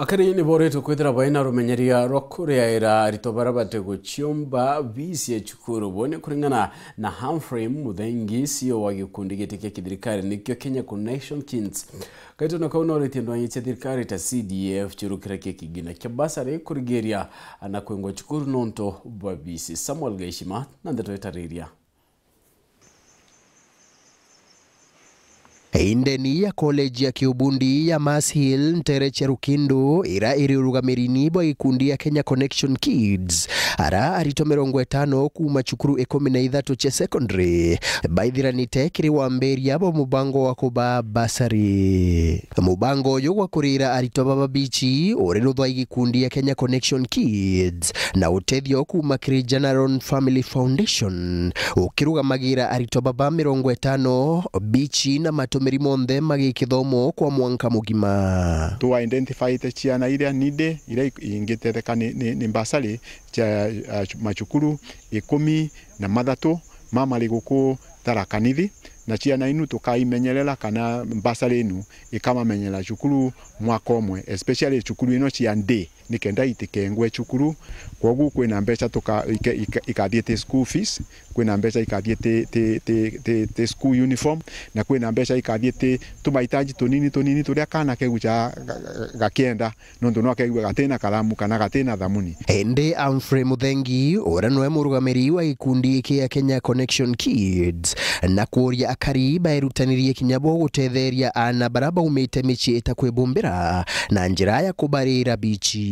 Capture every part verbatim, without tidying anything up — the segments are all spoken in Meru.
Akari ni boretwe kwithira baina rumenyeria rwa kuriaira aritwa baria bati guciomba biisi ya cukuru. Bo ni kuringana na Humphrey Muthengi, C E O wa gikundi giti kia kithirikari nikio Kenya Connection Kids. Kaitone kau noretie ndwang'i cia thirikari ta C D F ciurukira kia kigina kia basari kurigiria na kwingwa cukuru nontu bwa biisi. Samuel Gaishima na ndeto itariria. Indeni ya college ya kiubundi ya Mars Hill, ntere cia Rukindu, ira iri urugamirini bwa gikundi ya Kenya Connection Kids, ara aritwa mirongo itano kuuma cukuru ikumi na ithatu cia secondary baithiranite kiri wambiria bwa mubango wa kuba basari. Mubango uyu gwa kurira aritwa baba bichi uri ruthwa i gikundi ya Kenya Connection Kids na utethio kuuma kiri General Family Foundation, ukirugamagira aritwa baba mirongo itano, bichi na matumiri monthe ma gikithomo kwa mwanka mugima. Tu identifyite ciana iria needy, iria i-, ingitetheka ni, ni, ni mbasari cia, ah, machukuru ikumi na mathatu ma mari guku Tharaka Nithi, na ciana inu tukaimenyerera kana mbasari inu ikamamenyera cukuru mwaka umwe, especially cukuru ino cia day, nikenda itikengwe cukuru. Kwogu kwina mbeca tuka-, ika-, ika-, ikathiite school fees, kwina mbeca ikathiite, ti, ti, ti, ti school uniform, na kwina mbeca ikathiite tumahitaji tunini tunini turia kana kegu ca ga-, ga-, gakienda, nontu no kegua gatina karamu kana gatina thamuni. Indi Humphrey Muthengi, uria niwe murugamiri wa gikundi kia Kenya Connection Kids, na kuuria akari baerutanirie kinya bo gutetheria aana baria baumite micii itakwibumbira na njira ya kubarira bichi.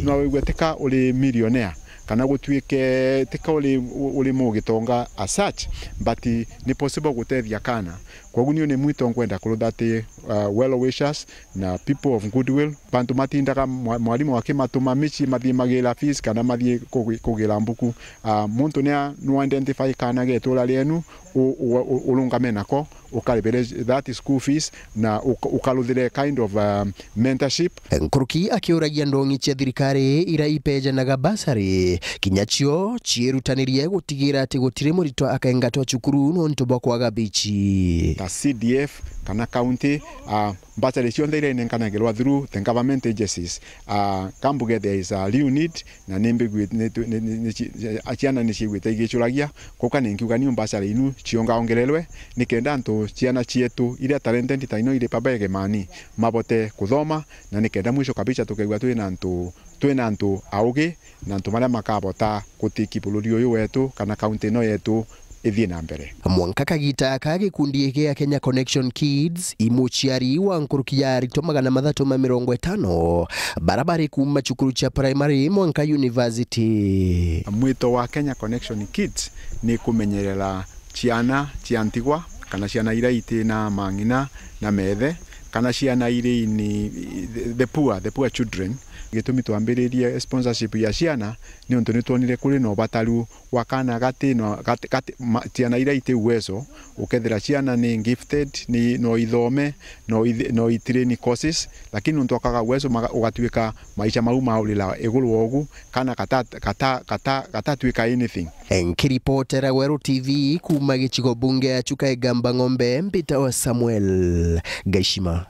No wigue tika uri millionaire, kana gutuike tika uri, uri mugitonga as such, but ni possible gutethia kana. Kwogu niu ni mwito nkwenda kurutha ati, uh, well wishers na people of goodwill, bantu matindaga mwa-, mwarimu akimatuma micii mathii magira fees kana mathii kugi-, kugira mbuku. Uh, muntu nia no identify kana getura rienu, u-, u-, u-, urungame nako, ukaribire that school fees, na uka-, ukaruthire kind of, uh, mentorship. Nkuruki akiuragia ndongi cia thirikari ira ipejanaga basari, kinya cio ciirutanirie gutigira ati gutiri muritwa akaingatwa cukuru nontu bwa kwaga bichi. Ta C D F kana county, ah, basari cionthe iria inenkanagirwa through the government agencies, ah, kambuge there is a real need, na ni mbigui-, ni tu-, ni, ni, ni ci-, a-, ciana ni ciiguite igicuragia, kuka ni nkiuga niu mbasari inu ciongaongererwe, nikenda antu ciana cietu iria talented ta ino iri pabege mani mabote kuthoma, na nikenda mwisho kabisa tukaigua twina antu, twina antu augi na antu maria makabota gutiki bururi uyu wetu kana kaunti ino yetu ithii na mbere. Mwanka kagita aka gikundi gia Kenya Connection Kids, i muciari wa nkuruki ya aritwa magana mathatu ma mirongo itano bara bari kuuma cukuru cia primary mwanka university. Mwito wa Kenya Connection Kids ni kumenyerera ciana cia ntigwa, kana ciana iria itina mang'ina na methe, kana ciana iria ini, the, the poor, the poor children. Gitumi twambiririe sponsorship ya ciana ni untu ni twonire kuri na ubataru wa kana gati no, gati, gati, ma, ciana iria iti uwezo, ukethira ciana ni gifted, ni, no ithome, no ithi-, no itrain courses, lakini untu akaga uwezo maga-, ugatuika maisha mau maurira iguru wa ugu, kana gata-, gata-, gata-, gatatuika anything. Nkiripotera Weru T V kuuma gicigo bunge ya Chuka Igamba Ng'ombe, mbitawa Samuel Gaishima.